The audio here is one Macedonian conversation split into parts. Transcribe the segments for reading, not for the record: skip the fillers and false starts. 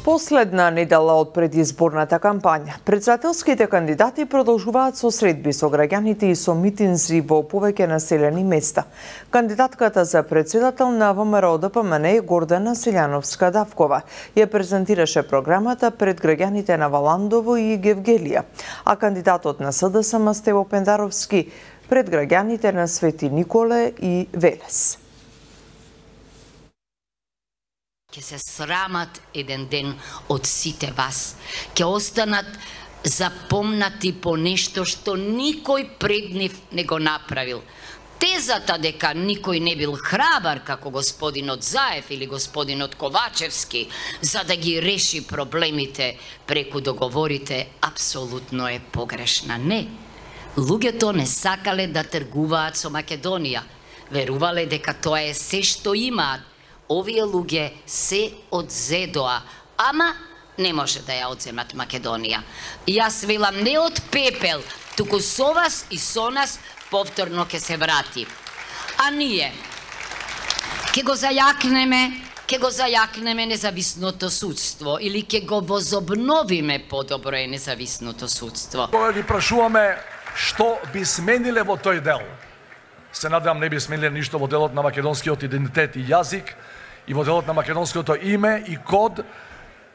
Последна недела од предизборната кампања, председателските кандидати продолжуваат со средби со граѓаните и со митинзи во повеќе населени места. Кандидатката за председател на ВМРО-ДПМН Гордана Силјановска-Давкова ја презентираше програмата пред граѓаните на Валандово и Гевгелија, а кандидатот на СДСМ Стево Пендаровски пред граѓаните на Свети Николе и Велес. Ќе се срамат еден ден од сите вас. Ќе останат запомнати по нешто што никој пред нив не го направил. Тезата дека никој не бил храбар како господинот Заев или господинот Ковачевски за да ги реши проблемите преку договорите апсолутно е погрешна. Не. Луѓето не сакале да тргуваат со Македонија. Верувале дека тоа е се што имаат. Овие луѓе се одзедоа, ама не може да ја одземат Македонија. Јас велам не од пепел, туку со вас и со нас повторно ќе се врати. А ние ќе го зајакнеме независното судство или ќе го возобновиме подобро е независното судство. Кога ги прашуваме што би смениле во тој дел, се надевам не би смениле ништо во делот на македонскиот идентитет и јазик, и во делот на македонското име и код,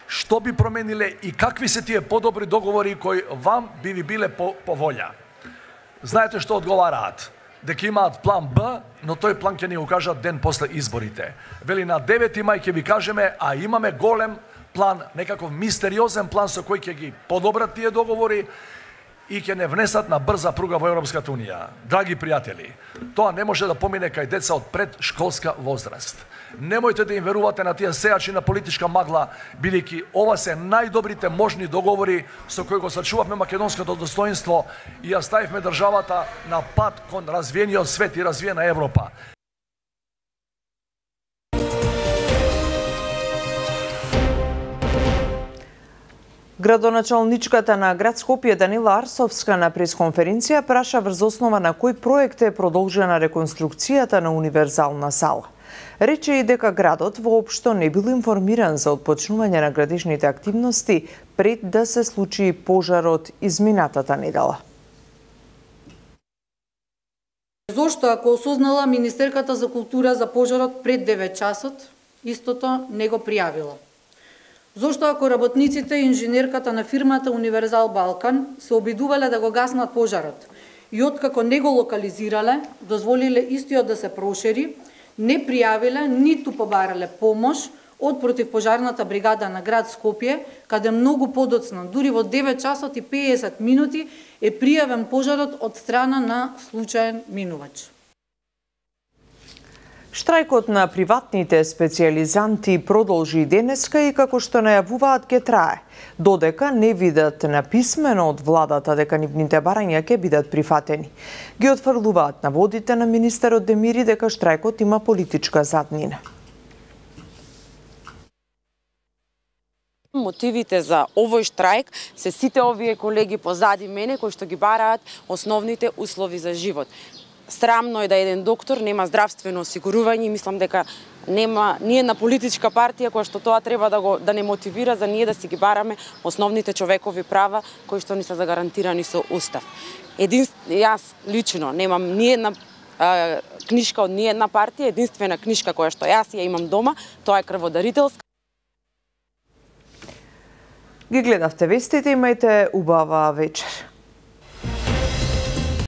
што би промениле и какви се тие подобри договори кои вам би ви биле по волја. Знаете што одговараат? Дека имаат план Б, но тој план ќе ни го кажат ден после изборите. Вели на 9 мај ќе ви кажеме, а имаме голем план, некаков мистериозен план со кој ќе ги подобрат тие договори и ќе не внесат на брза пруга во Европската Унија. Драги пријатели, тоа не може да помине кај деца од предшколска возраст. Немојте да им верувате на тие сејачи на политичка магла, бидејќи ова се најдобрите можни договори со кои го сачувавме македонското достоинство и ја ставивме државата на пат кон развиениот свет и развиена Европа. Градоначалничката на град Скопје Данила Арсовска на пресконференција праша врз основа на кој проект е продолжена реконструкцијата на универзална сала. Рече и дека градот воопшто не бил информиран за отпочнување на градежните активности пред да се случи пожарот изминатата недела. Зошто ако осознала Министерката за култура за пожарот пред 9 часот, истото не го пријавила? Зошто ако работниците и инженерката на фирмата Универзал Балкан се обидувале да го гаснат пожарот и откако не го локализирале, дозволиле истиот да се прошири, не пријавиле ниту побарале помош од противпожарната бригада на град Скопје, каде многу подоцна, дури во 9 часот и 50 минути е пријавен пожарот од страна на случаен минувач. Штрајкот на приватните специјализанти продолжи денеска и како што најавуваат ќе трае, додека не видат написмено од владата дека нивните барања ќе бидат прифатени. Ги отфрлуваат наводите на министерот Демири дека штрајкот има политичка заднина. Мотивите за овој штрајк се сите овие колеги позади мене кои што ги бараат основните услови за живот. Срамно е да еден доктор нема здравствено осигурување и мислам дека нема ние на политичка партија која што тоа треба да не мотивира за ние да си ги бараме основните човекови права кои што ни се загарантирани со устав. Јас лично немам ни една книшка од ни една партија, единствена книшка која што јас ја имам дома, тоа е крводарителска. Ги гледавте вестите, имајте убава вечер.